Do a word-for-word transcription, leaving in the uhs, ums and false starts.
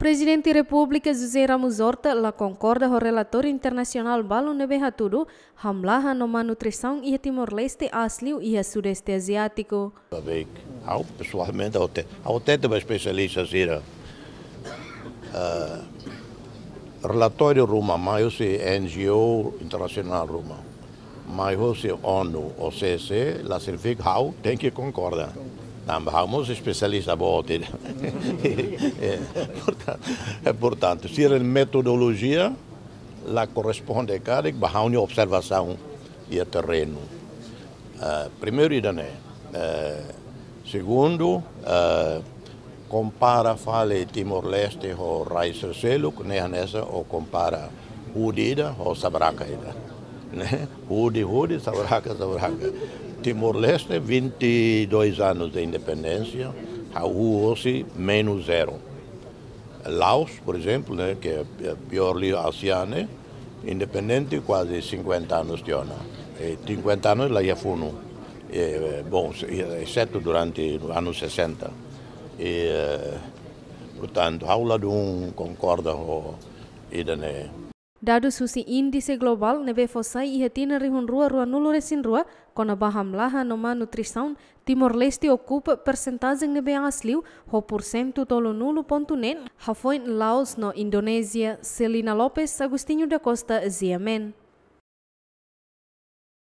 Prezidente Repúblika José Ramos Horta la konkorda ho relatóriu internasionál balu ne'ebé hatudu hamlaha no malnutrisaun iha Timor-Leste asli iha Sudeste Aziátiku. Sabe, ha'u pesoalmente, ha'u hatete, ha'u hatete ba espesialista sira. Eh, relatóriu ruma, mai husi N G O internasionál ruma, mai husi ONU, O C C, la signifika ha'u tenke konkorda. Tanba ha'u mós espesialista boot ida. Eh, porta-, eh, portantu, sira-nia metodolojia la korresponde karik ba ha'u-nia observasaun iha terrenu. Eh, primeiru ida-ne'e. Eh, segundu, eh, kompara fali Timor-Leste ho rai seluk, ne'e hanesan ó kompara hudi ida ho sabraka ida. Ne'e? Hudi, hudi, sabraka, sabraka. Timor-Leste, vinte e dois anos de independência, hahú hosi menus zero. Laos, por exemplo, ne'e, ke é piór liu ASEAN, ne'e, independente kuaze cinquenta anos tiha ona. E cinquenta anos la iha funu. E, bom, exetu durante anos sessenta. E, eh, portantu, ha'u ladún konkorda ho ida-ne'e. Dadus husi índise globál ne'ebé fó sai iha tinan rihun rua ruanulu resin rua kona-ba hamlaha no malnutrisaun, Timor-Leste okupa persentajen ne'ebé aas liu ho porsentu tolunulu pontu neen, hafoin Laos no Indonézia. Celina Lopes, Agostinho da Costa, G M N.